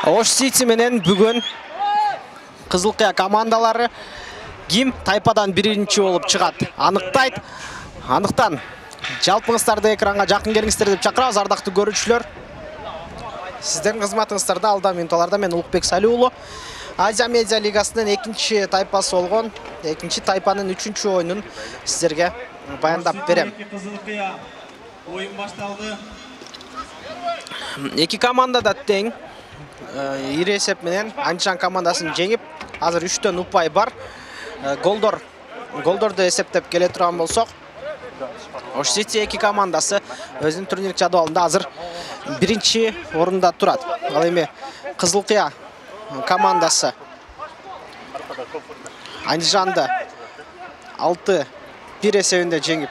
Ош Сити менен бүгүн Кызыл Кыя командалары ким тайпадан биринчи болуп чыгат аныктайт. Андыктан жалпыңыздарды экранга жакын келиңиздер деп чакырабыз, ардактуу көрүүчүлөр. Сиздердин кызматыңыздарда алда минуталарда мен Улукбек Салиулу Азия Медиа Лигасынын экинчи тайпасы болгон экинчи тайпанын 3-чү оюнун сиздерге баяндап берем. Кызыл Кыя оюн башталды. Эки команда да тең. Ири эсеп менен Андижан командасын жеңип, азыр 3төн упай бар. Голдорду эсептеп келе турган болсок, Ош Сити эки командасы өзүнүн турнирлик жадыбалында азыр биринчи орунда турат. Ал эми Кызыл Кыя командасы Андижанды 6-1 эсебинде жеңип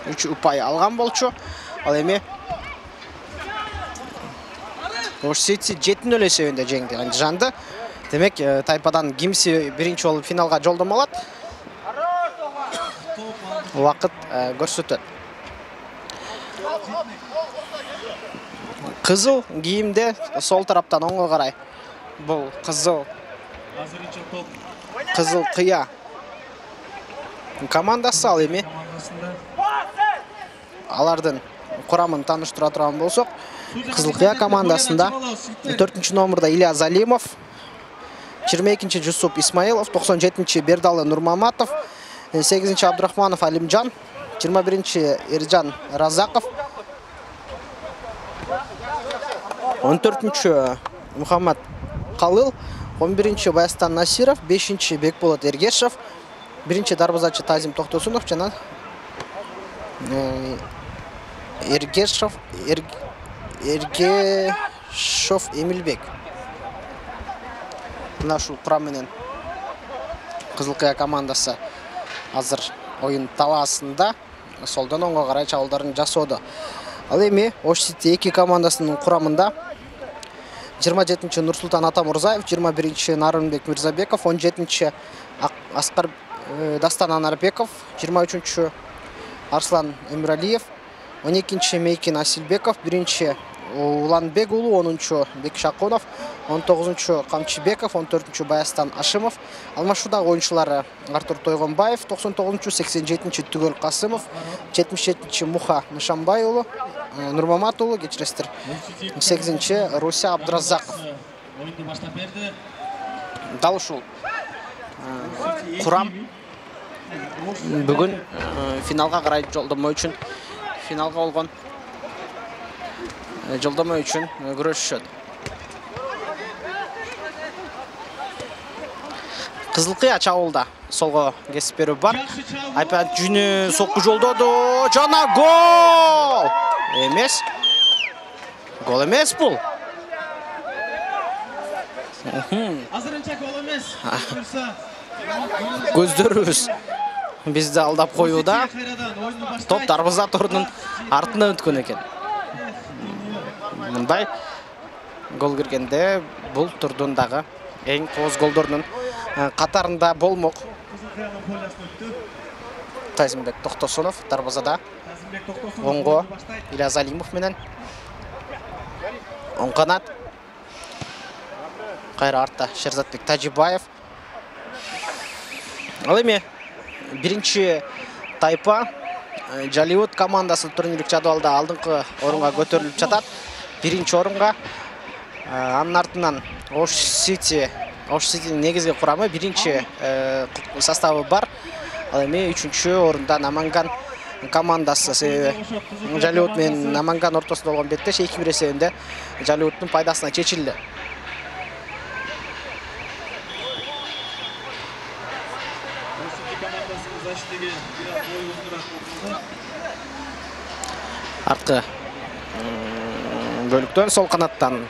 3 упай алган болчу. Ал эми Ош Сити 7-0 эсебинде жеңди Андижанды. Демек, тайпадан кимси биринчи болуп финалга жолдомо алат? Убакыт көрсөтөт. Кызыл кийимде сол тараптан оңго карай. Бул Кызыл Кыя командасы. Ал эми алардын курамын тааныштыра турган болсок, Кызыл Кыя командасында 4-чү номерда Илья Залимов, 22-чи Жусуп Исмаилов, 97-чи Бердалы Нурмаматов, 8-чи Абдурахманов Алимжан, 21-чи Эржан Разаков, 14-чү Мухаммад Калыл, 11-чи Баястан Насиров, 5-чи Бекболот Эргешев, 1-чи дарбазачы Тазим Токтосунов жана Эргешев Эмилбек. Мына ушул курам менен Кызыл Кыя командасы азыр оюн талаасында солдон оңго карай чабуулдарын жасоодо. Ал эми Ош Сити эки командасынын курамында 27-чи Нурсултан Атамурзаев, 21-чи Нарынбек Мирзабеков, 17-чи Дастан Анарбеков, 23-чү Арслан Эмиралиев, 12-чи Мейкин Асилбеков, 1-чи Уланбек уулу, 10-чу Бекшакунов, 19-чу Камчыбеков, 14-чү Баястан Ашимов, алмашуудагы оюнчулары Артур Тойгонбаев, 99-чу 87-чи Түгөл Касымов, 77-чи Муха Нышанбай уулу, Нурмамат уулу, кечиресиздер, 8-чи Руся Абдуразаков. Дал ушул курам бүгүн финалга карай жолдомо үчүн күрөшүшөт. Кызыл Кыя чабуулда солго кесип берүү бар. Айпат жүнү сокку жолдоду. Жана гол! Эмес. Гол эмес бул. Азырынча гол эмес. Көздөрүбүз бизди алдап коюуда. Топ дарбаза торунун артынан өткөн экен. Мындай гол киргенде бул турдун дагы эң кооз голдордун катарында болмок. Тазимбек Токтосунов дарбазада, оңго Илья Залимов менен оң канат. Кайра артта Шерзатбек Тажибаев. Ал эми биринчи тайпа Жалиут командасы турнирлик жадыбалда алдыңкы орунга көтөрүлүп жатат. Биринчи орунга. Анын артынан Ош Ситинин негизги курамы биринчи составы бар. Ал эми 3-чү орунда Наманган командасы. Себеби Жалиут менен Наманган ортосунда болгон беттеш 2-1 эсебинде Жалиуттун пайдасына чечилди. Арткы бөлүктөн сол канаттан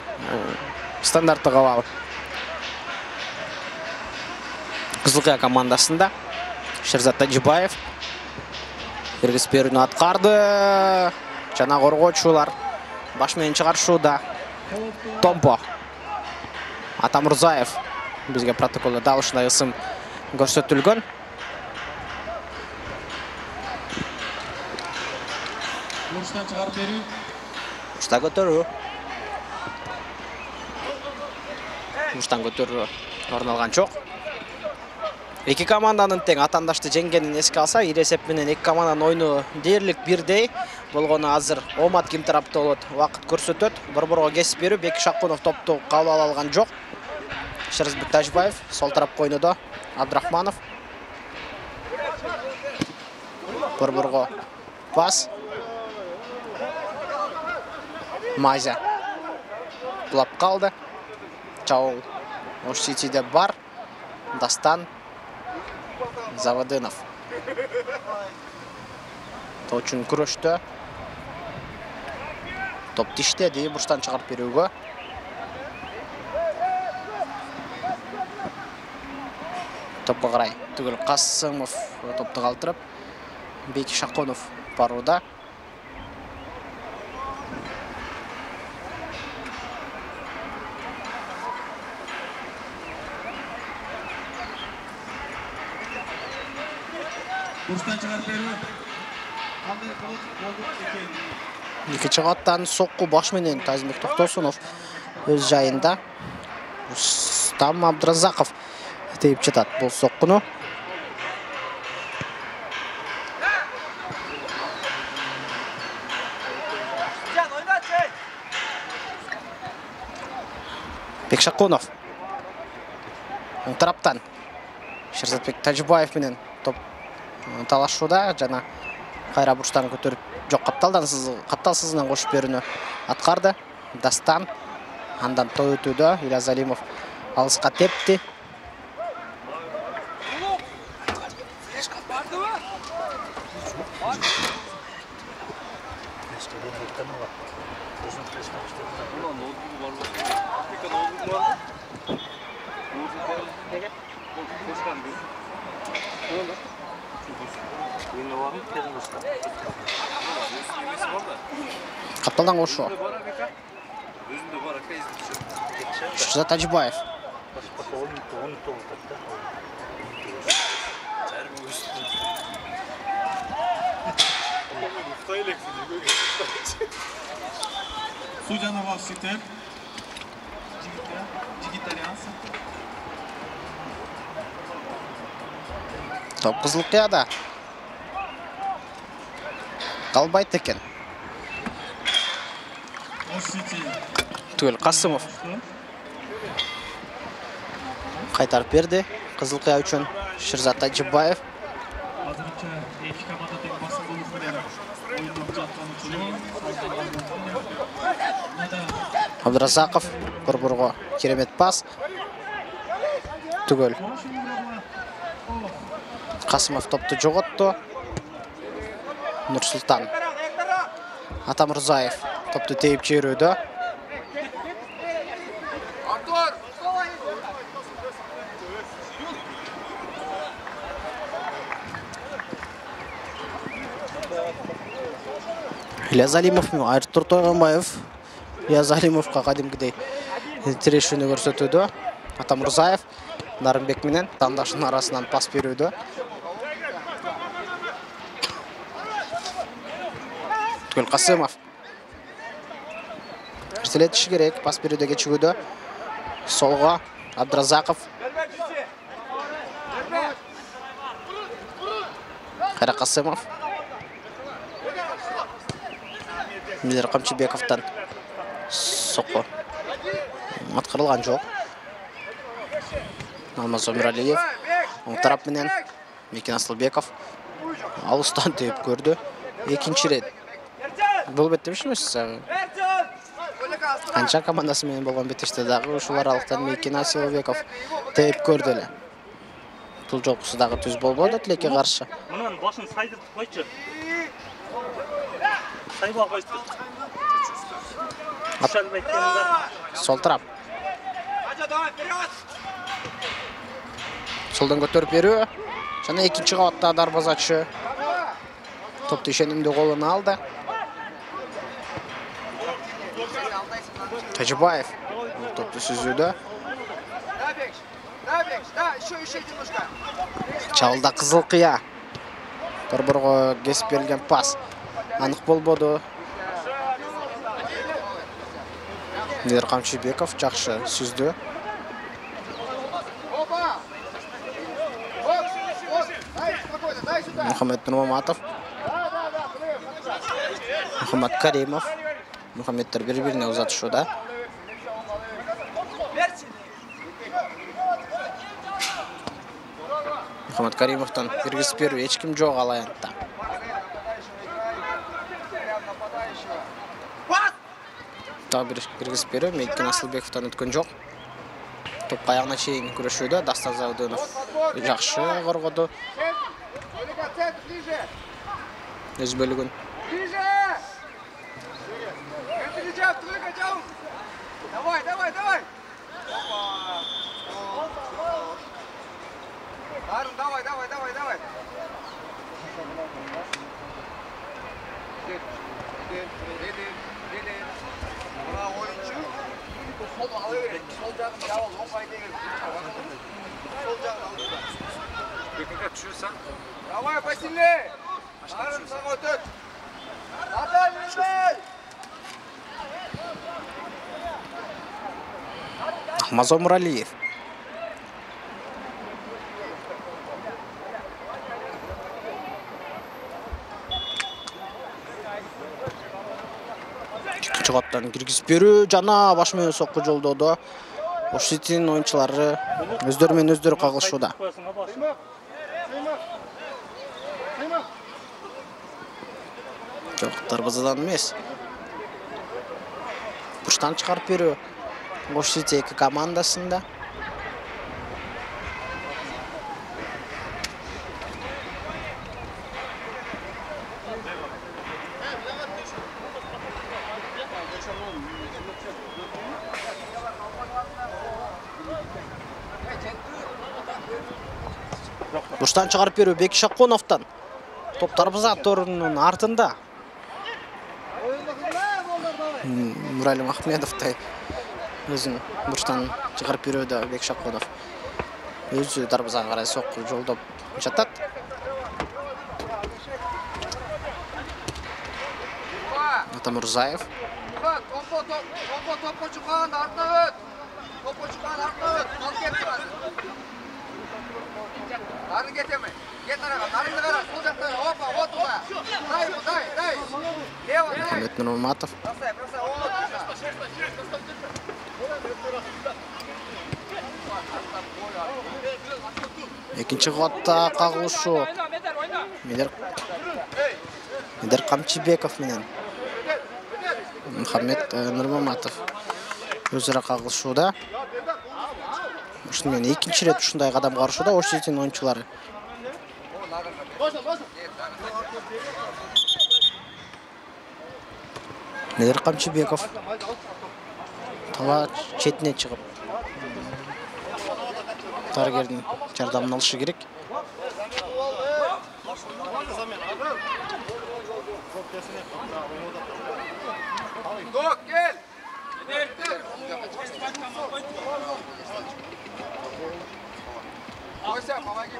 стандарттык кабыл Кызыл Кыя командасында Шерзат Тажибаев киргизип берүүнү аткарды. Жана коргоочулар баш менен чыгарышууда. Томпо Атамурзаев бизге протоколдо дал ушундай ысым көрсөтүлгөн. Бурчтан чыгарып берүү. Бурчта көтөрүү. Бурчтан көтөрүү орун алган жок. Эки команданын тең атандашты жеңгенин эске алса, ир эсеп менен эки команданын ойну дээрлик бирдей болгону азыр Омат ким тарапта болот, убакыт көрсөтөт. Борборго кесип берүү, Беки Шакунов топту кабыл ала алган жок. Шерзбек Тажбаев сол тарапка ойнодо. Абдрахманов. Борборго пас. Майза булап калды. Чаул Ош Ситиде бар. Дастан Завадынов. Точун күрөштө. Топ тиштеди, бурчтан чыгарып берүүгө. Топко карай түгүл Касымов топту калтырып, Беки Шакунов барууда. Бурчтан чыгарып берүү. Кандай болот? Экинчи каттан сокку баш менен Тазимбек Токтосунов өз жайында. Рустам Абдразаков тейип жатат бул соккуну. Бекшакунов. Оң тараптан Шерзатбек Тажбаев менен топ талашууда, жана кайра бурчтан көтөрүп жок капталсызынан кошуп берүүнү аткарды. Дастан андан той өтүүдө. Ильяс Алимов алыска тепти. Капталдан кошуу. Шерзат Тажбаев. Суджанова Ситер. Жигитариансы. Топ кызыл кыяда. Калбайт экен. Түгел Касымов. Кайтарып берди. Кызыл кыя үчүн Шерзат Тажбаев. Азырынча эки команда тең басым болуп менен оюндоп жаткан учуру. Абдразаков борборго керемет пас. Түгел Касымов топту жоготту. Нурсултан Атамырзаев топту тейип жиберүүдө. Ильяс Алимов менен Артур Тойгонбаев Ильяс Алимовго кадимкидей тирешүүнү көрсөтүүдө. Атамырзаев Нарымбек менен тандашынын арасынан пас берүүдө. Түгел Касымов. Эртелетиши керек, пас берүүдө кечигүүдө. Солго Абдразаков. Кайра Касымов. Милер Камчыбековтан сокко аткарылган жок. Алмаз Омиралиев оң тарап менен Мекен Асылбеков алыстан тээп көрдү. Экинчи рет бул бетте эмес. Канча командасы менен болгон бетеште дагы ушул аралыктан Мекен Асылбеков тээп көрдү эле. Бул жолкусу дагы түз болбоду Тилекке каршы. Мунун башын сайдыртып койчу. Сайбал койчу. Сол тарап. Солдан көтөрүп берүү. Жана экинчи кабатта дарбазачы топту ишенимдүү колуна алды. Тажбаев топту сүзүүдө. Чалда кызыл кыя. Борборго кесип берилген пас анык болбоду. Милер Камчыбеков жакшы сүздү. Мухаммед Нурмаматов. Мухаммад Каримов. Мухаммедтер бири-бирине узатышууда. Мухаммад Каримовтан киргизип берүү эч ким жок ал аянтта. Дагы бир киргизип берүү Мейкин Асылбековтан өткөн жок. Топ аягына чейин күрөшүүдө Дастан Завдынов жакшы коргоду. Өз бөлүгүн. Давай, давай, давай. Арын, давай, давай, давай, давай. Дед. Мына ойынчу. Сол ала берет. Сол жагын жабыл, оңгай деген. Сол жагын алды. Бекинге түшүрсөң. Давай, посильнее. Арын сага өтөт. Атай, Мирбей. Мазо Муралиев. Чыгаттан киргизип берүү жана баш менен сокку жолдоодо Ошитин оюнчулары өздөрү менен өздөрү кагылышууда. Жок, дарбазадан эмес. Бурчтан чыгарып берүү Ошити эки командасында. Бурчтан чыгарып берүү Бек Шаконовтан. Топ дарбаза торунун артында. Муралим Ахмедовтай өзүн бурчтан чыгарып берүүдө Бек Шаконов өзү дарбазага карай сокку жолдоп жатат. Атамурзаев. Топко чыккан артына өт. Топко чыккан артына өт. Ал кетти азыр. Ары кетеме. Кет арага, нарыңды кара, сол жактан опа, отуга. Дай. Лево, дай. Мухаммед Нурмаматов. Бросай, Экинчи кабатта кагылышуу. Медер Камчыбеков менен Мухаммед Нурмаматов өзара кагылышууда. Ушуну менен экинчи ирет ушундай кадам карышууда Ошитин оюнчулары. Медер Камчыбеков тала четине чыгып дарыгердин жардамын алышы керек. Док, кел. Ойса, помоги.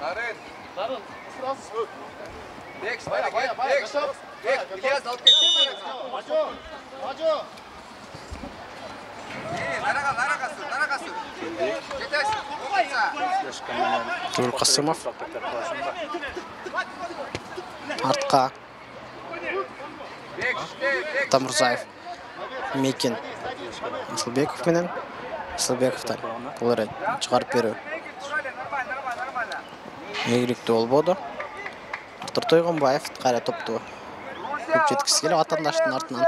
Арын. Бек, Ильяс алып кетсең. Нарага сүр. Жетесиң. Тул Касымов артка. Тамурзаев Мейкин Асылбеков менен Асылбековтан бул ирет чыгарып берүү ийгиликтүү болбоду. Артур Тойгонбаев кайра топту көп жеткиси келип атандаштын артынан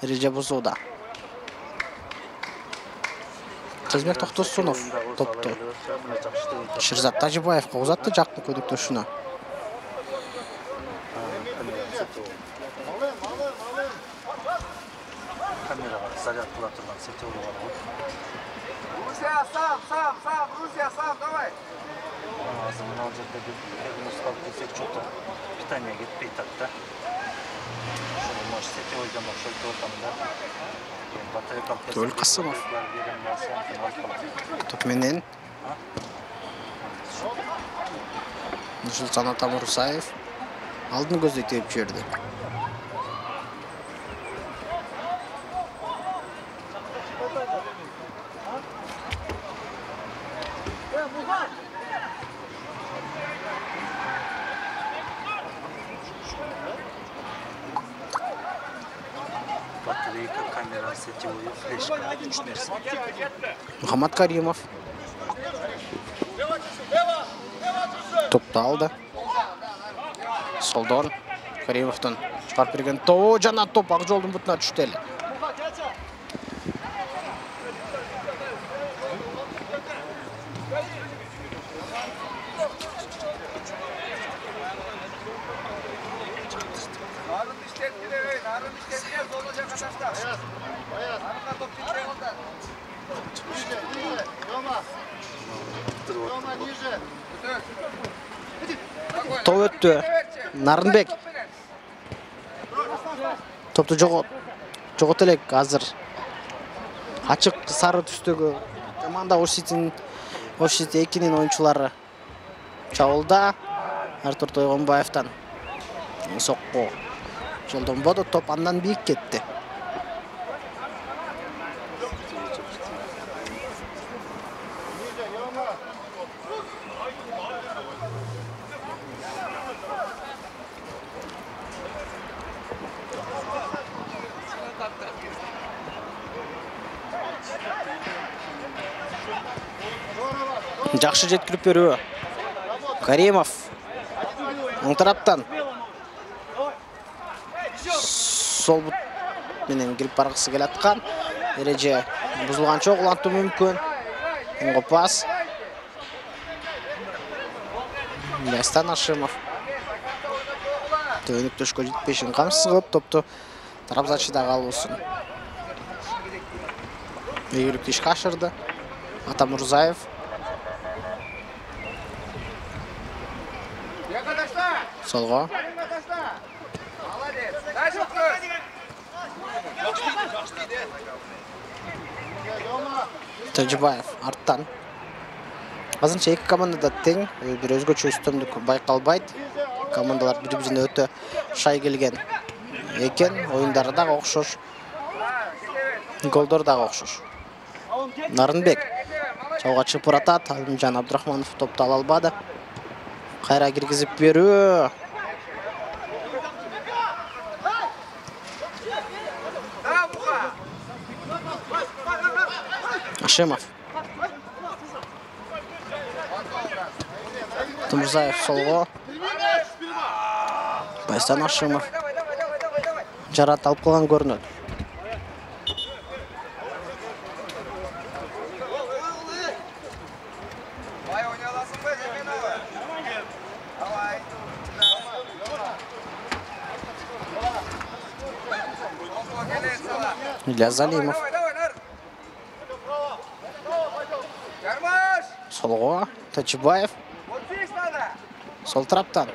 эреже бузууда. Казбек Токтосунов топту Ширзат Тажибаевга узатты жакын көдөктөшүнө. Камерага заряд кыла турган сетеу бар. Русия, сам, Русия, сам, давай. Азыр мына жерде диагностикалык десек чокто питание кетпей атат да. Ошону может сетеуйдан окшойт деп атам да. Төл Касымов топ менен Нурсултан Атамурзаев алдын көздөй теуп жиберди. камера, сетевой, флешка, 3 нерсе. Мухаммад Каримов. Топты алды. Солдон Каримовтон чыгарып берген топ жана топ ак жолдун бутуна түштү эле. Топ өттү. Нарынбек. Топту жогот элек азыр. Ачык сары түстөгү команда Ош-Сити 2-нин оюнчулары чабуулда. Артур Тойгонбаевтан сокку жолдонбоду, топ андан бийик кетти. Жакшы жеткирип берүү. Каримов оң тараптан сол бут менен кирип баргысы келаткан. Эреже бузулганча улантуу мүмкүн. Оңго пас. Ястан Ашимов. Төнүктөшкө жетпешин камсыз кылып топту тарапзачыда калуусун. Ийгиликтүү ишке ашырды Атамурзаев. Солго. Тажибаев арттан. Азырынча эки командада тең, бир өзгөчө үстөмдүк байкалбайт. Командалар бири-бирине өтө шай келген экен. Оюндары дагы окшош. Голдор дагы окшош. Нарынбек чабууга чыгып баратат. Алимжан Абдрахманов топту ала албады. Кайра киргизип берүү. Ашимов. Тумурзаев солго. Байстан Ашимов. Жарат алып калган көрүнөт. Ильяс Залимов. Солго Тачибаев. Сол тараптан.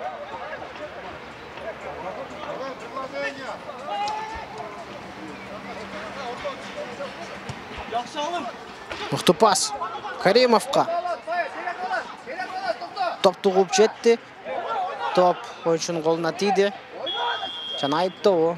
Мыкты пас. Каримовка. Топту кууп жетти. Топ оюнчунун колуна тийди. Жана айыптоо.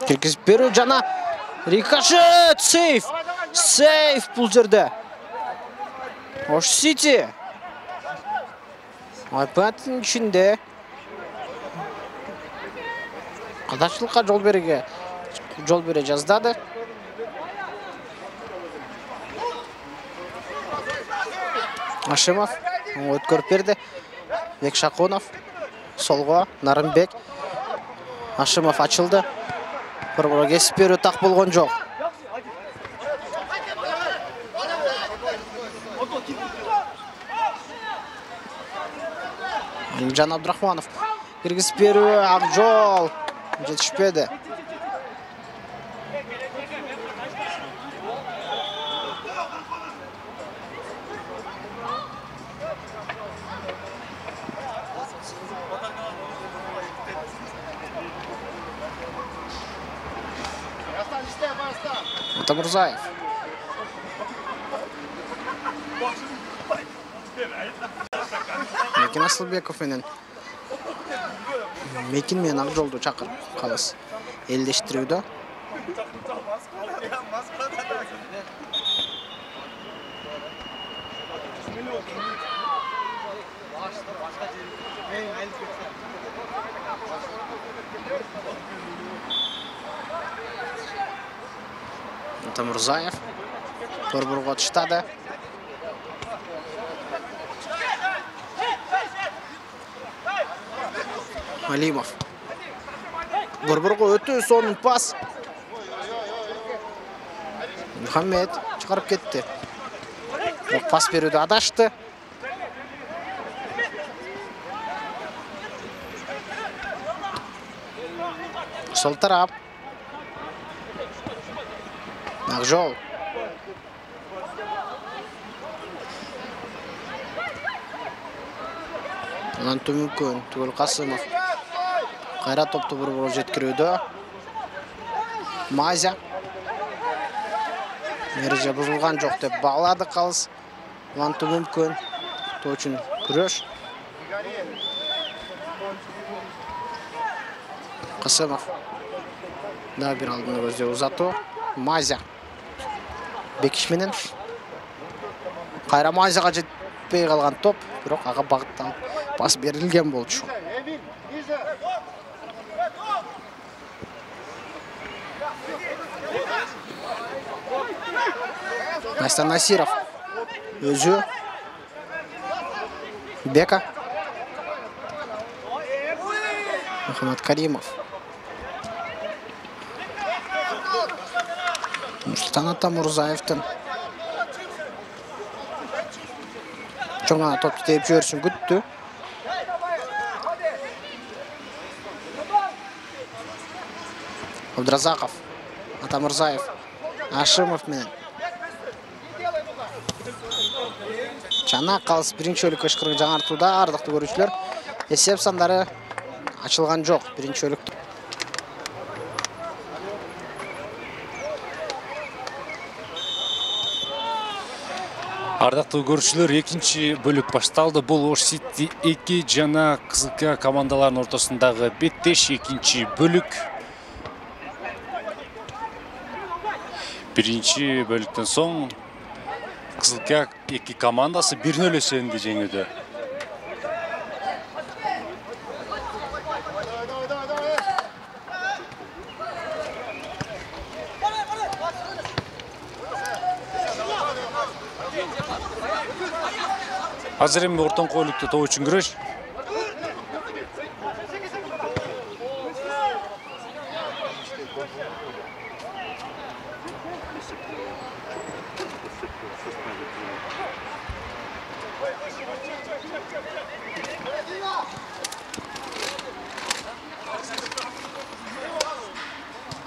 Киргизип берүү жана рикошет, сейф. Сейф бул жерде. Ош-Сити. Айпаттын ичинде кадачылыкка жол бере жаздады. Ашимов өткөрүп берди. Бекшакунов солго Нарынбек. Ашимов ачылды. Борборо кесип берүү так болгон жок. Алимжан Абдрахманов киргизип берүү, ак жол жетишпеди. Атамурзаев. Акен Асылбеков менен Мекин менен Акжолду чакырып калыс элдештирүүдө. Мурзаев Борборго таштады. Алимов Борборго өтө сонун пас. Мухаммед чыгарып кетти. Бирок пас берүүдө адашты. Сол тарап Акжол. Анан мүмкүн Түгөл Касымов кайра топту Борборго жеткирүүдө. Мазя эреже бузулган жок деп баглады калыс. Анту мүмкүн тоочун күрөш. Касымов да бир алдына көздөй узатуу. Мазя Бекиш менен кайра Мазяга жетпей калган топ, бирок ага багыттан пас берилген болчу. Настан Насиров өзү Бека Мухаммад Каримов Нурсултан Атамурзаевдин чоң гана топду тээп жиберишин күттү. Абдразаков, Атамурзаев, Ашимов менен Чана калыс биринчи бөлүккө ышкырып жаңартууда. Ардактуу көрүүчүлөр, эсеп сандары ачылган жок биринчи бөлүктө. Ардактуу көрүүчүлөр, экинчи бөлүк башталды. Бул Ош Сити 2 жана Кызылка командаларынын ортосундагы беттеш экинчи бөлүк. Биринчи бөлүктөн соң Кызылка 2 командасы 1-0 эсебинде жеңүүдө. Азыр эми ортоңку бөлүктө топ үчүн күрөш.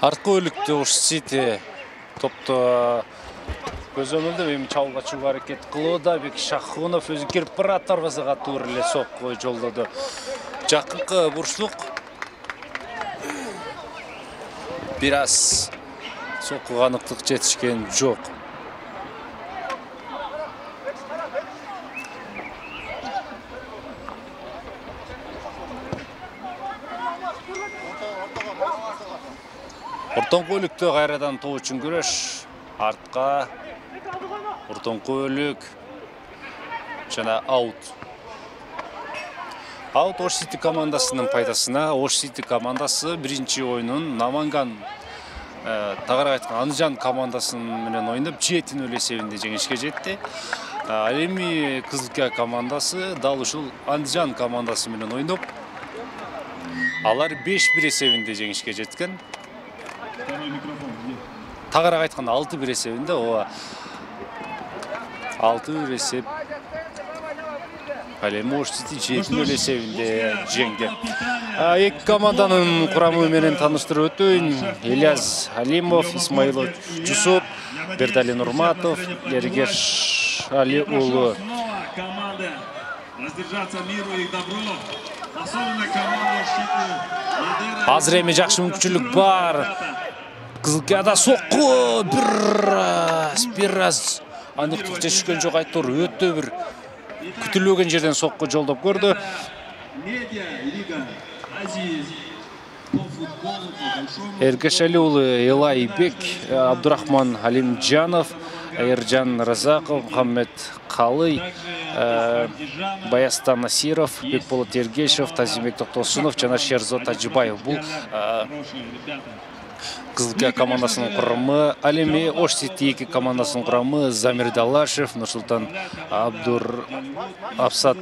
Арткы бөлүктө Ош Сити топто көзөмөлдөп эми чабуулга чыгууга аракет кылууда. Бек Шахунов өзү кирип барат, дарбазага туура эле сокку жолдоду. Жакынкы бурчтук бир аз соккуга аныктык жетишкен жок. Ортоңку бөлүктө кайрадан топ үчүн күрөш. Артка ортоңку бөлүк жана аут. Аут Ош Сити командасынын пайдасына. Ош Сити командасы биринчи оюнун Наманган тагыраак айтканда Андижан командасын менен ойноп 7-0 эсебинде жеңишке жетти. Ал эми Кызылка командасы дал ушул Андижан командасы менен ойноп алар 5-1 эсебинде жеңишке жеткен. Тагыраак айтканда 6-1 эсебинде, ооба 6-1 эсеп. Ал эми Ош Сити 7-0 эсебинде жеңген. Эки команданын курамы менен тааныштырып өтөйүн. Ильяс Алимов, Исмаилов Жусуп, Бердали Нурматов, Эргеш Али уулу. Азыр эми жакшы мүмкүнчүлүк бар. Кызылкада сокку бир аз аныктык жетишкен жок, айтор өтө бир күтүлбөгөн жерден сокку жолдоп көрдү. Медиа лига Азии по футболу по большому. Эргешали уулу Элайбек, Абдурахман Алимжанов, Эржан Разаков, Мухаммед Калый, Баястан Насиров, Бекболот Ергешев, Тазимбек Токтосунов жана Шерзот Тажибаев. Бул Кызылкия командасынын курамы. Ал эми Ош Сити 2 командасынын курамы Замир Далашев, Нурсултан Абсат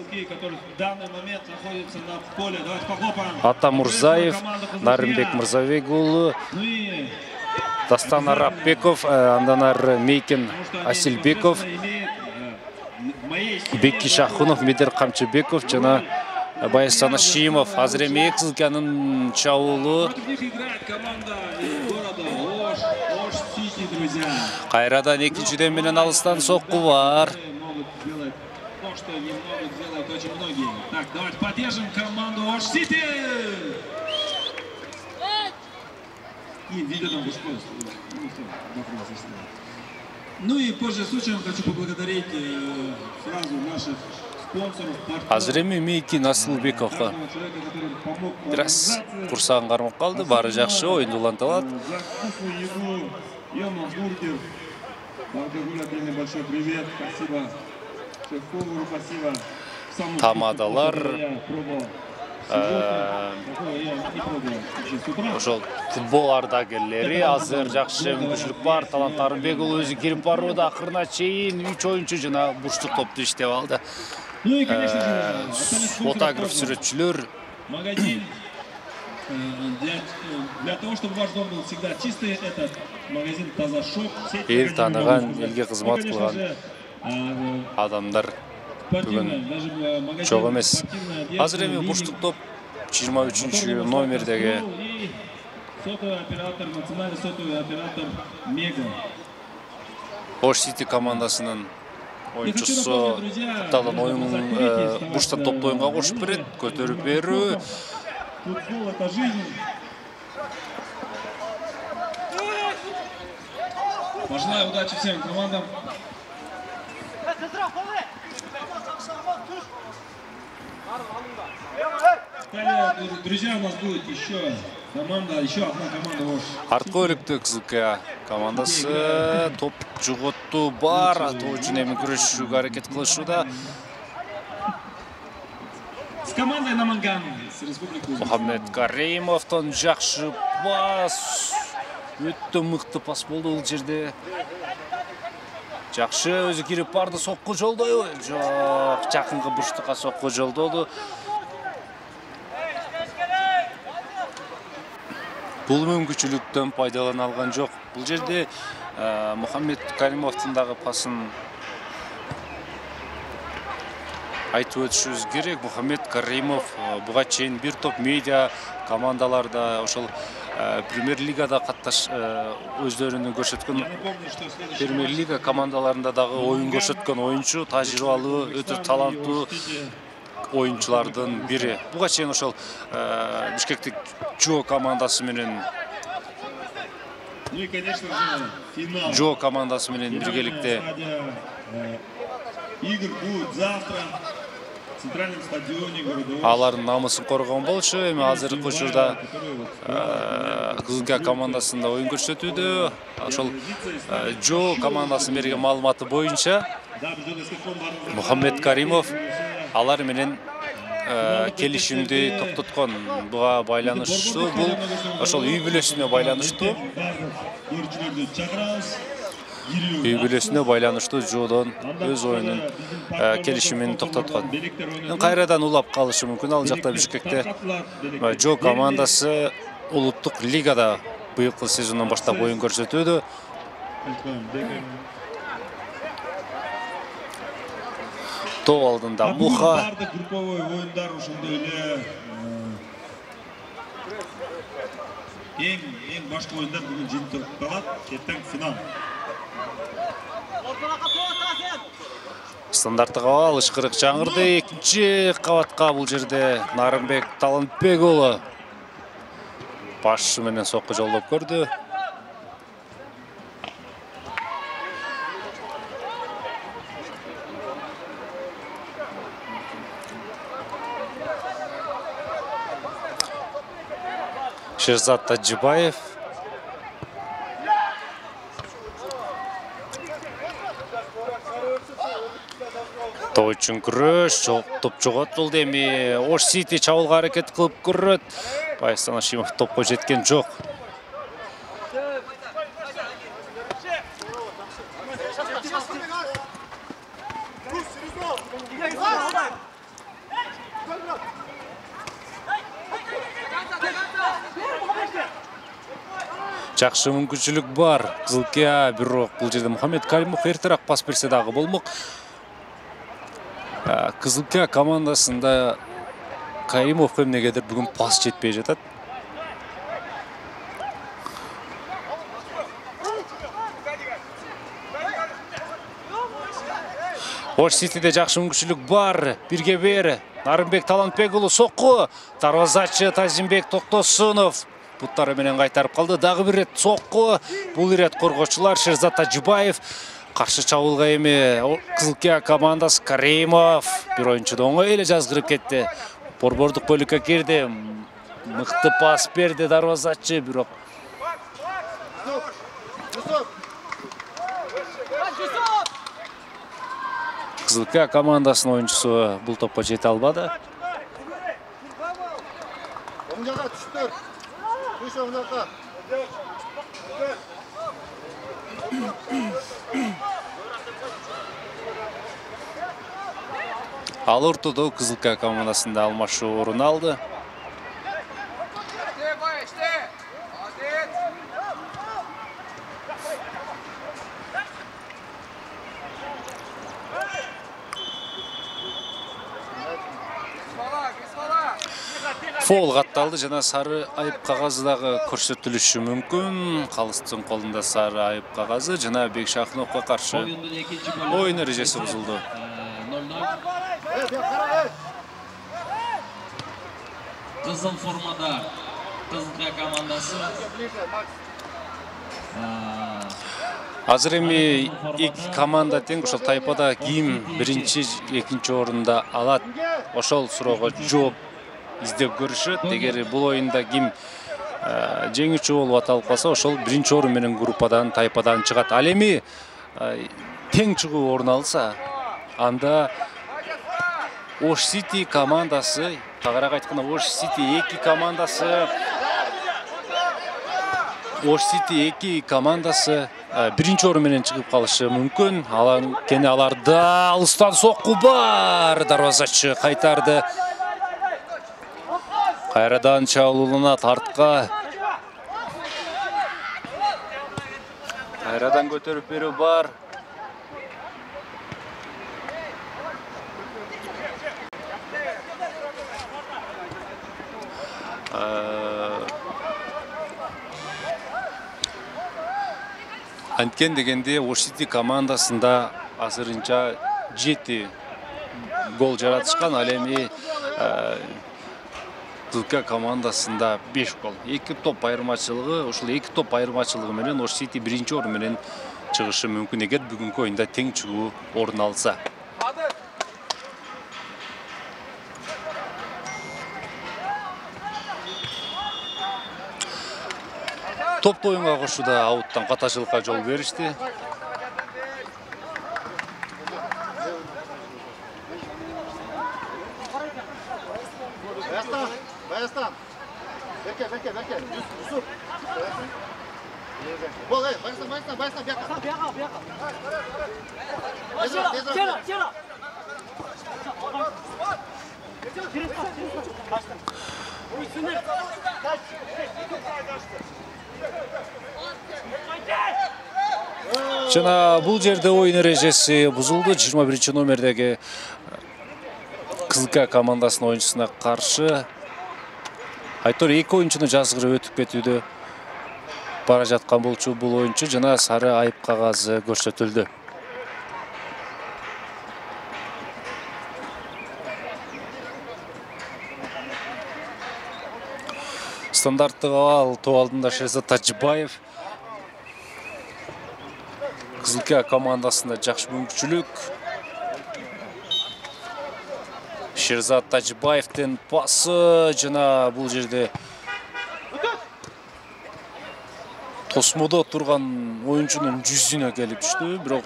Ата Мурзаев, Нарымбек Мырзабек уулу, Дастан Арапбеков, андан ары Мейкен Асилбеков, Бекки Шахунов, Медер Камчыбеков жана Баястан Шимов. Азыр эми Кызылкиянын чабуулу кайрадан экинчиден менен алыстан сокку бар. То, что не могут делать очень многие. Так, давайте поддержим команду Ош Сити. И видео Ну и позже случаем хочу поблагодарить сразу наших спонсоров. Азыр эми Мейкин Асылбековго бир аз курсагын кармап калды. Баары жакшы, оюнду уланталат. Йома Бургер. Бардыгуля, большой привет. Спасибо. Шеф-повару спасибо. Тамадалар ошол футбол ардагерлери азыр жакшы мүмкүнчүлүк бар. Талант Арымбекұлы өзү кирип барууда. Акырына чейин 3 оюнчу жана бурчтук топту иштеп алды. Фотограф, сүрөтчүлөр. Магазин. Для того, чтобы ваш дом был всегда чистый, этот магазин Тазашоп. Эл тааныган, элге кызмат кылган адамдар бүгүн чок эмес. Азыр эми бурчтук топ 23 номердеги сотовый оператор, национальный сотовый оператор Мега. Ош Сити командасынын оюнчусу капталдан оюн бурчтан топто оюнга кошуп берет, көтөрүп берүү. Футбол — это жизнь. Пожелаю удачи всем командам. Друзья, у нас будет еще команда, еще одна команда Ош. Артка өлүктө Кызылкия командасы топ жоготту бар. Атуу үчүн эми күрөшүүгө аракет кылышууда. С командой Наманган, с республикой. Мухаммед Каримовдон жакшы пас. Өтө мыкты пас болду бул жерде. Жакшы өзү кирип барды, сокку жолдойбу? Жок, жакынкы бурчтукка сокку жолдоду. Бул мүмкүнчүлүктөн пайдалана алган жок. Бул жерде Мухаммед Каримовдун дагы пасын айтып өтүшүбүз керек. Мухаммед Каримов буга чейин бир топ медиа командаларда, ошол Премьер-лигада өздөрүнү көрсөткөн, Премьер-лига командаларында дагы оюн көрсөткөн оюнчу, тажрыйбалуу, өтө таланттуу оюнчулардын бири. Буга чейин ошол Бишкектик Жо командасы менен Жо командасы менен биргеликте Игр будет завтра в центральном стадионе города Ош. Алардын намысын коргон болчу. Эми азыркы учурда Кызылкия командасында оюн көрсөтүүдө. Ошол Жо командасынын берген маалыматы боюнча Мухаммед Каримов алар менен келишимди токтоткон. Буга байланыштуу, бул ошол үй бүлөсүнө байланыштуу. Үй бүлөсүнө байланыштуу Жодон өз оюнун келишимин токтоткон. Кайрадан улап калышы мүмкүн. Ал жакта Бишкекте Жо командасы улуттук лигада быйылкы сезондон баштап оюн көрсөтүүдө. Топ алдында Муха. Групповой оюндар ошондой эле эң башкы оюндар бүгүн жыйынтыгып калат. Эртең финал. Стандарттык абал ышкырык жаңырды. Экинчи кабатка бул жерде Нарымбек Талантбек уулу башы менен сокку жолдоп көрдү. Шерзат Тажибаев. Топ үчүн күрөш, топ жоготулду. Эми Ош Сити чабуулга аракет кылып көрөт. Байсан Ашимов топко жеткен жок. Жакшы мүмкүнчүлүк бар. Кызылкия, бирок бул жерде Мухаммед Каримов эртерээк пас берсе дагы болмок. Кызылкия командасында Каримовго эмнегедир бүгүн пас жетпей жатат. Ош Ситиде жакшы мүмкүнчүлүк бар. Бирге бер. Нарымбек Талантбек уулу сокку. Дарвазачы Тазимбек Токтосунов буттары менен кайтарып калды. Дагы бир рет сокку. Бул ирет коргоочулар Шерзат Тажибаев. Каршы чабуулга эми Кызылкия командасы Каримов. Бир оюнчу оңой эле жазгырып кетти. Борбордук бөлүккө кирди. Мыкты пас берди дарвазачы, бирок Кызылкия командасынын оюнчусу бул топко жете албады. Ал ортодо Кызылкия командасында алмашуу орун алды. Фол катталды жана сары айып кагазы дагы көрсөтүлүшү мүмкүн. Калыстын колунда сары айып кагазы жана Бекшахуновго каршы оюн эрежеси бузулду. Кызыл формада Кызылкия командасы. Азыр эми эки команда тең. Ошол тайпада ким биринчи, экинчи орунда алат? Ошол суроого жооп издеп көрүшөт. Эгер бул оюнда ким жеңүүчү болуп аталып калса, ошол биринчи орун менен группадан, тайпадан чыгат. Ал эми тең чыгуу орун алса, анда Ош Сити командасы, тагыраак айтканда Ош Сити эки командасы биринчи орун менен чыгып калышы мүмкүн. Анткени аларда алыстан сокку бар. Дарвазачы кайтарды. Кайрадан чабуулунат артка. Кайрадан көтөрүп берүү бар. Анткен дегенде Ош Сити командасында азырынча 7 гол жаратышкан. Ал эми Кызылкия командасында 5 гол. 2 топ айырмачылыгы, ошол 2 топ айырмачылыгы менен Ош Сити биринчи орун менен чыгышы мүмкүн эгер бүгүнкү оюнда тең чыгуу орун алса. Топты оюнга кошууда ауттан катачылыкка жол беришти. Баястан. Берке. Юсуп. Бол, Баястан, Жана бул жерде оюн эрежеси бузулду. 21 номердеги Кызылкия командасынын оюнчусуна каршы айтор эки оюнчуну жазгырып өтүп кетүүдө бара жаткан болчу бул оюнчу жана сары айып кагазы көрсөтүлдү. Стандарттык абал топ алдында Шерзат Тажибаев. Кызылкия командасында жакшы мүмкүнчүлүк. Шерзат Тажибаевдин пасы жана бул жерде тосмодо турган оюнчунун жүзүнө келип түштү, бирок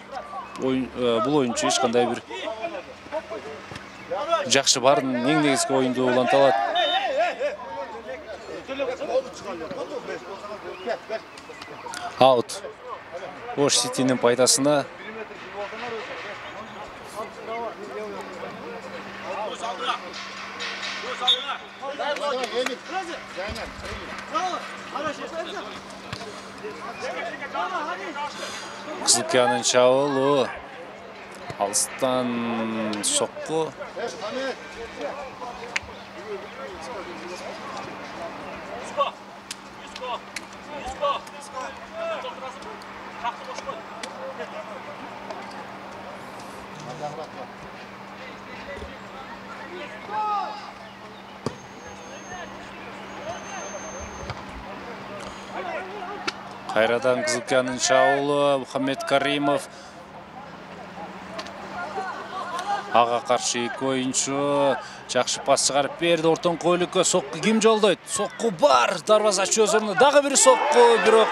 бул оюнчу эч кандай бир жакшы баарын эң негизги оюнду уланта алат. Аут. Ош Ситинин пайдасына. Кызылкиянын чабуулу. Алыстан сокку. Кайрадан Кызылкиянын чабуулу Мухаммед Каримов. Ага каршы эки оюнчу жакшы пас чыгарып берди. Ортоңку бөлүккө сокку ким жолдойт? Сокку бар. Дарбазачы өз ордуна. Дагы бир сокку, бирок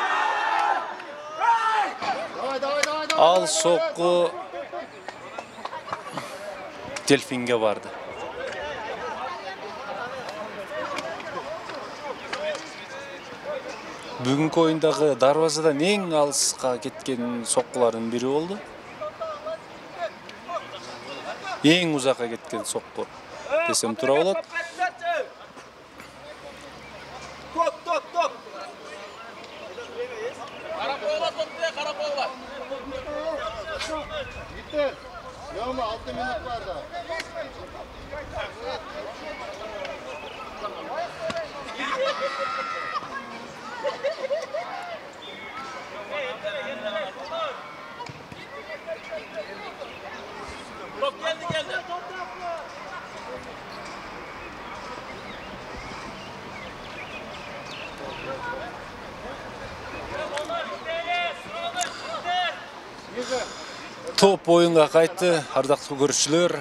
ал сокку Дельфинге барды. Бүгүнкү оюндагы дарбазадан эң алыска кеткен соккулардын бири болду. Эң узакка кеткен сокку десем туура болот. Yo'qmi, 6 minut barda. Geldi. Топ оюнга кайтты, ардактуу көрүүчүлөр.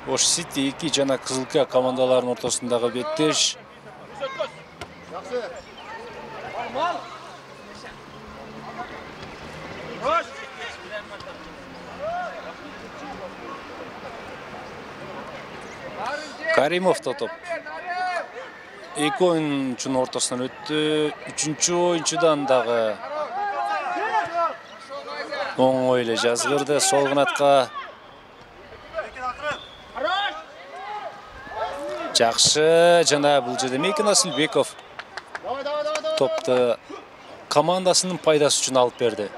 Ош Сити 2 жана Кызылкия командаларынын ортосундагы беттеш. Каримов топ. Эки оюнчунун ортосунан өттү. Үчүнчү оюнчудан дагы оңой эле жазгырды. Сол канатка жакшы жана бул жерде Мейкин Асылбеков топту командасынын пайдасы үчүн алып берди.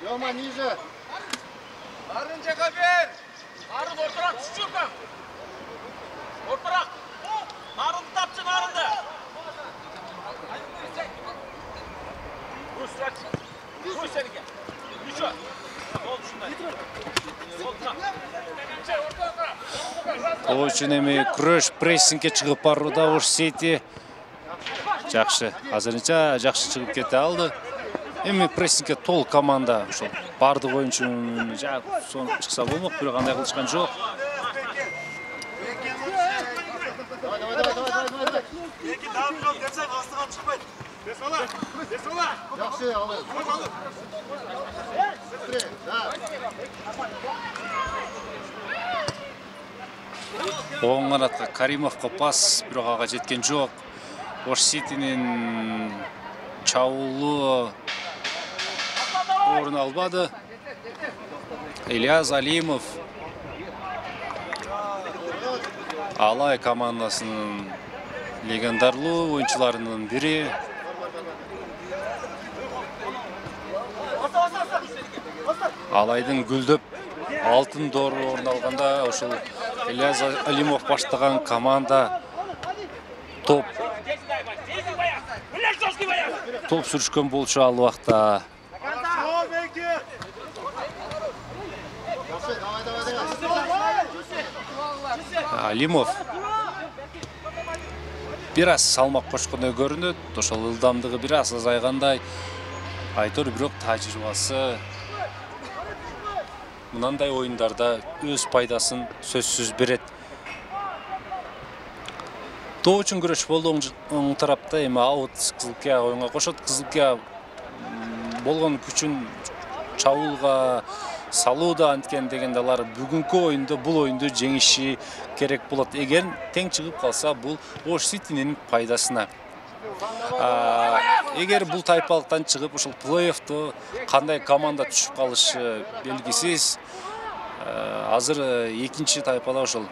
Yo'qmi, ниже. Арынжага бер. Арын отурак түшүргөн. Отурак. Арын тапчы, арынды. Оочун эми күрөш прессингге чыгып барууда Ош Сити. Жакшы, азырынча жакшы чыгып кете алды. Эми прессингге толук команда ошол бардык оюнчу сон чыкса болмок, бирок андай кылышкан жок. Жакшы, алып. Оң канатка Каримовго пас, бирок ага жеткен жок. Ош Ситинин чабуулу орун албады. Ильяс Алимов Алай командасынын легендарлуу оюнчуларынын бири. Алайдын гүлдөп алтын доору орун алганда ошол Ильяс Алимов баштаган команда топ сүрүшкөн болчу ал убакта. Алимов бир аз салмак кошкондой көрүнөт, ошол ылдамдыгы бир аз азайгандай. Айтор бирок тажрыйбасы мынандай оюндарда өз пайдасын сөзсүз берет. Тоо үчүн күрөш болду оң тарапта, эми аут Кызылкия оюнга кошот. Кызылкия болгон күчүн чабуулга салууда анткен дегенде алар бүгүнкү оюнда бул оюнду жеңиши керек болот. Эгер тең чыгып калса, бул Ош Ситинин пайдасына. Эгер бул тайпалыктан чыгып ушул плей-оффто кандай команда түшүп калышы белгисиз. Азыр экинчи тайпада ошол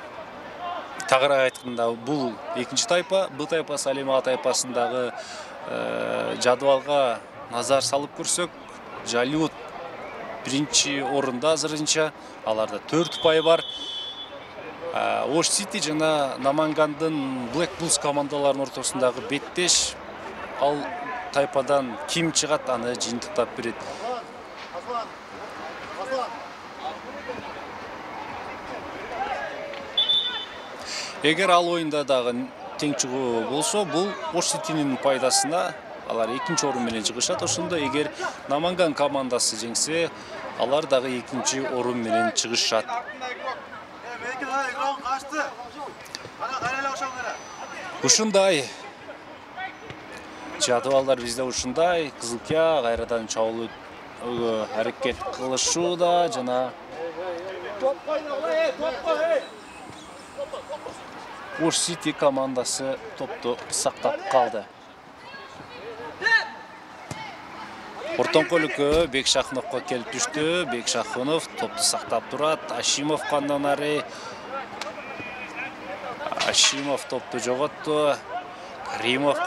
тагыраак айтканда бул экинчи тайпа, бул тайпа Салима тайпасындагы жадыбалга назар салып көрсөк, Жалиут биринчи орунда азырынча, аларда 4 упай бар. Ош Сити жана Намангандын Black Bulls командаларынын ортосундагы беттеш. Ал тайпадан ким чыгат, аны жыйынтыктап берет. Эгер ал оюнда дагы тең чыгуу болсо, бул Ош Ситинин пайдасына. Алар экинчи орун менен чыгышат. Ошондо эгер Наманган командасы жеңсе, алар дагы экинчи орун менен чыгышат. Ушундай жадыбалдар бизде ушундай. Кызылкия кайрадан чабуулуу аракет кылышууда жана Ош Сити командасы топту сактап калды. Ортоңку өлкө Бекшахуновго келип түштү. Бекшахунов топту сактап турат. Ашимов кандан ары. Ашимов топту жоготту. Каримов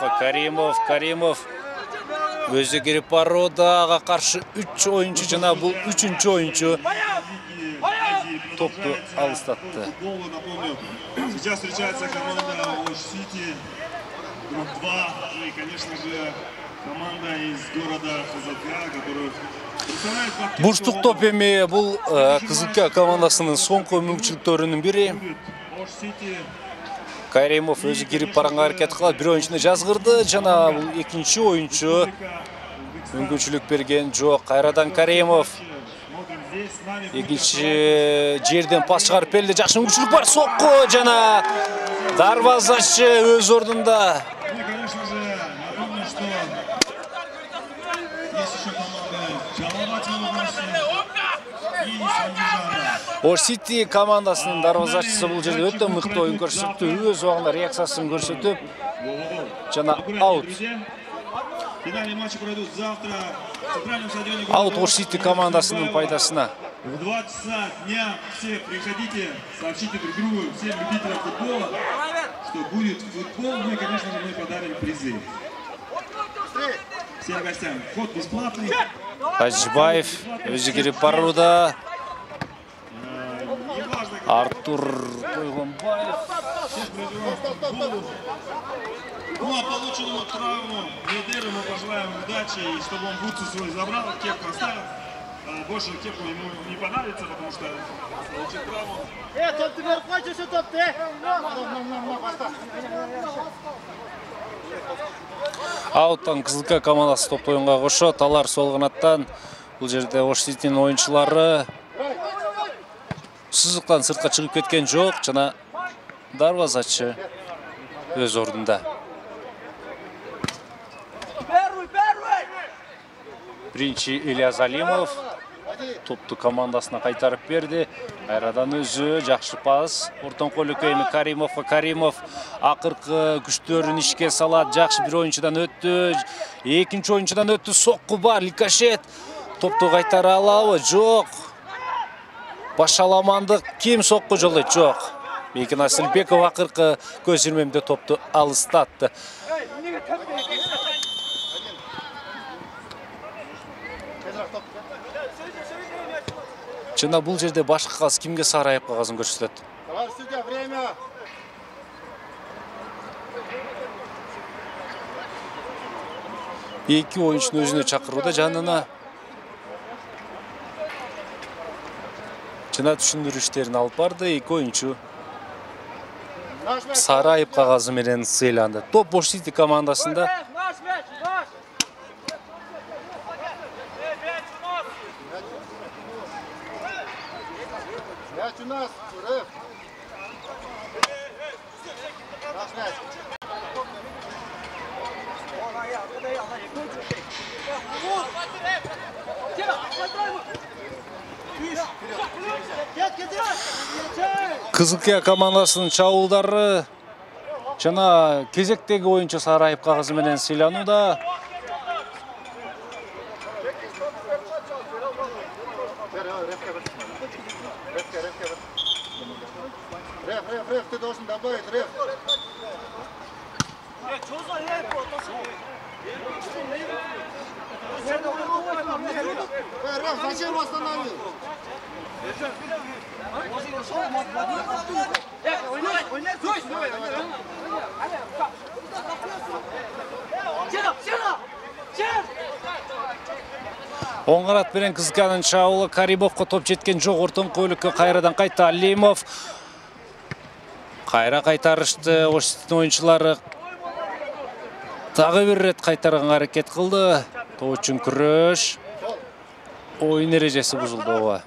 өзү кирип барууда. Ага каршы 3 оюнчу жана бул 3-чү оюнчу топту алыстатты. Сейчас встречается команда Ош Сити, групп 2, и, конечно же, команда из города Кызылкия, которую представляет... Бурштук топ эми бул Кызылкия командасынын соңку мүмкүнчүлүктөрүнүн бири. Ош Сити Каримов өзү кирип барганга аракет кылат, бир оюнчуну жазгырды жана бул экинчи оюнчу мүмкүнчүлүк берген жок. Кайрадан Каримов экинчи жерден пас чыгарып берди. Жакшы мүмкүнчүлүк бар, сокку жана дарбазачы өз ордунда. конечно же, напомню, что есть еще команды Жалаватова и Сандижана. Ош Сити командасынын дарбазачысы бул жерде өтө мыкты оюн көрсөттү, өз убагында реакциясын көрсөтүп жана аут. Финальные матчи пройдут завтра в центральном стадионе. Аут Ош Сити командасынын пайдасына. В 2 часа дня все приходите, сообщите друг другу, всем любителям футбола, что будет футбол. Ну и, конечно же, мы подарим призы. Всем гостям вход бесплатный. Тажибаев өзү кирип барууда. Артур Койгонбаев. Ну а полученному травму лидеру мы пожелаем удачи, и чтобы он бутсы свой забрал, кепку оставил. Больше кепку ему не понадобится, потому что получит травму. Топты берип койчу, ошо топты. Ауттан Кызылкия командасы топ оюнга кошот. Алар сол канаттан. Бул жерде Ош Ситинин оюнчулары сызыктан сыртка чыгып кеткен жок жана дарбазачы өз ордунда. Биринчи Ильяс Алимов топту командасына кайтарып берди. Кайрадан өзү жакшы пас. Ортоңку өлкө эми Каримов акыркы күчтөрүн ишке салат. Жакшы бир оюнчудан өттү. Экинчи оюнчудан өттү. Сокку бар. Ликашет топту кайтара алабы? Жок. Башаламандык ким сокку жолойт? Жок. Бекин Асылбеков акыркы көз ирмемде топту алыстатты. Жана бул жерде башкы каз кимге сарайып калганын көрсөтөт. Время. Эки оюнчуну өзүнө чакырууда жанына. Жана түшүндүрүү иштерин алып барды. Эки оюнчу сарайып кагазы менен сыйланды. Топ Ош Сити командасында. Мяч у нас, Реф. Наш мяч. Кызылкия командасынын чабуулдары жана кезектеги оюнчу сары айып кагазы менен сыйланууда. Реф, ты должен добавить, реф. Реф, зачем его остановил? Оң канат менен Кызылкиянын чабуулу Каримовго топ жеткен жок. Ортоңку бөлүккө кайрадан кайта Алимов. Кайра кайтарышты. Оштин оюнчулары дагы бир рет кайтарганга аракет кылды. Топ үчүн күрөш. Оюн эрежеси бузулду.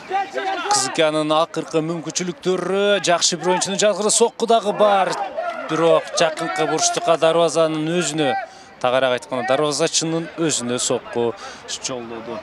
Кызылкиянын акыркы мүмкүнчүлүктөрү, жакшы бир оюнчунун жазгыры сокку дагы бар. Бирок жакынкы бурчтукка дарбазанын өзүнө, тагыраак айтканда дарбазачынын өзүнө сокку жолдоду.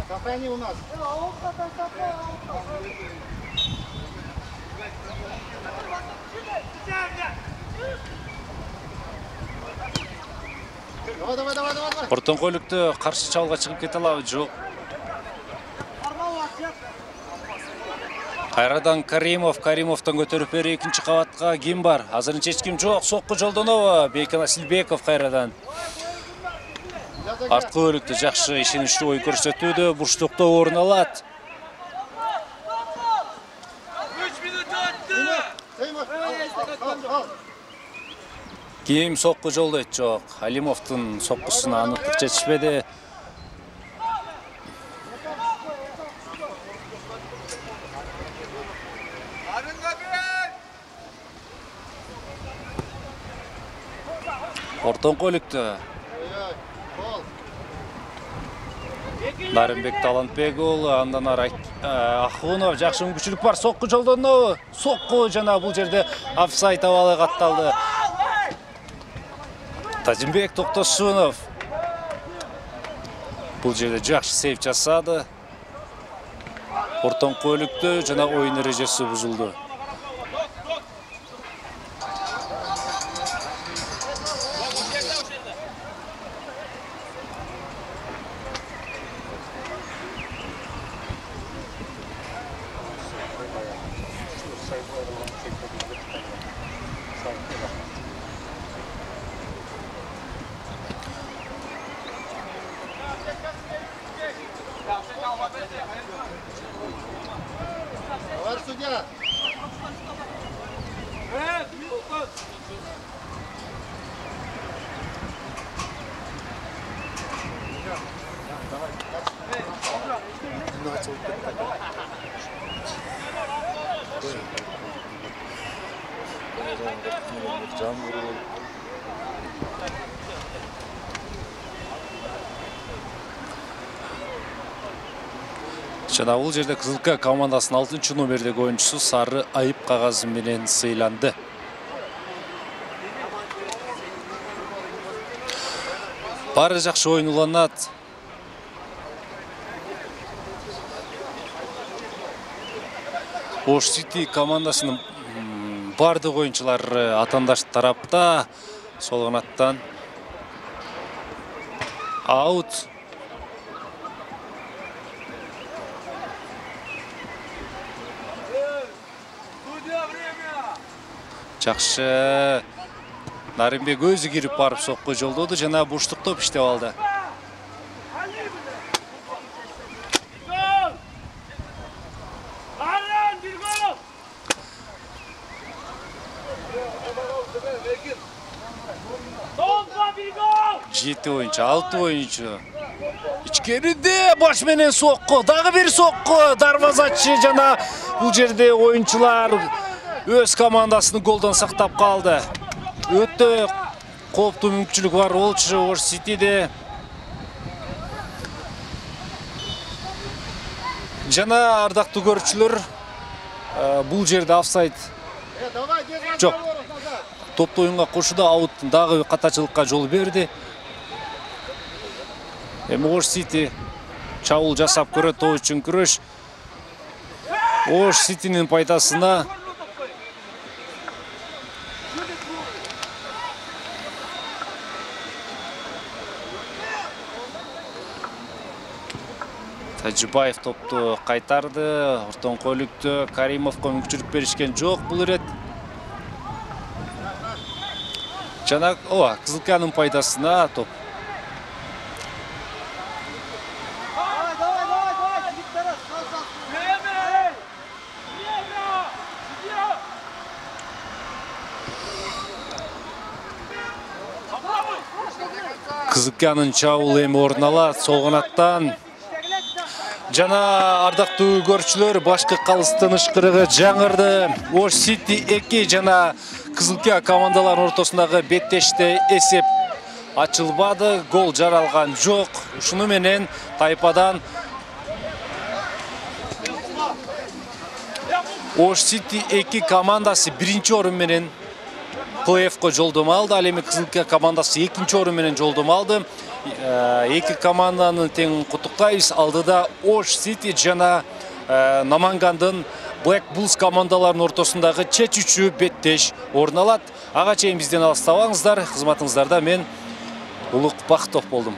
Сохрани у нас. Давай. Ортоңку бөлүктө каршы чабуулга чыгып кете алабы, жок. Кайрадан Каримовдон көтөрүп бери экинчи кабатка ким бар? Азырынча эч ким жок. Сокку жолдонобу? Бекин Асилбеков кайрадан. Арткы бөлүктө жакшы ишеничтүү ой көрсөтүүдө, бурчтукта орун алат. 3 минут өттү. Ким сокку жолдойт, жок. Алимовдун соккусуна аныктык жетишпеди. Ортоңку бөлүктө Нарымбек Талантбек уулу, андан ары Ахунов, жакшы мүмкүнчүлүк бар, сокку жолдонобу? Сокку жана бул жерде офсайд абалы катталды. Тажимбек Токтосунов бул жерде жакшы сейв жасады. Ортоңку бөлүктө жана оюн эрежеси бузулду. Товарищ судья. Жана бул жерде Кызылкия командасынын 6 номердеги оюнчусу сары айып кагазы менен сыйланды. Баары жакшы оюн уланат. Ош Сити командасынын бардык оюнчулары атандаш тарапта. Сол канаттан аут. Жакшы. Нарымбек өзү кирип барып сокку жолдоду жана бурчтук топ иштеп алды. Жети оюнчу, 6 оюнчу ичкериде баш менен сокку, дагы бир сокку. Дарвазачы жана бул жерде оюнчулар өз командасын голдон сактап калды. Өтө кооптуу мүмкүнчүлүк бар болчу Ош Ситиде. Жана ардактуу көрүүчүлөр, бул жерде офсайд жок. Топту оюнга кошууда аут дагы катачылыкка жол берди. Эми Ош Сити чабуул жасап көрөт, топ үчүн күрөш. Ош Ситинин пайдасына. Тажибаев топту кайтарды. Ортоңку бөлүктө Каримовго мүмкүнчүлүк беришкен жок бул ирет. Жана Кызылканын пайдасына топ. Кызылканын чабуулу эми орун алат сол канаттан. Жана ардактуу көрүүчүлөр, башкы калыстын ышкырыгы жаңырды. Ош Сити 2 жана Кызылка командаларынын ортосундагы беттеште эсеп ачылбады, гол жаралган жок. Ушуну менен тайпадан Ош Сити 2 командасы 1-чи орун менен плей-оффко жолдомо алды. Ал эми Кызылка командасы 2-чи орун менен жолдомо алды. Эки команданы тең куттуктайбыз. Алдыда Ош Сити жана Намангандын Black Bulls командаларынын ортосундагы чечүүчү беттеш орун алат. Ага чейин бизден алыстабаңыздар. Кызматыңыздарда мен Улук Бактов болдум.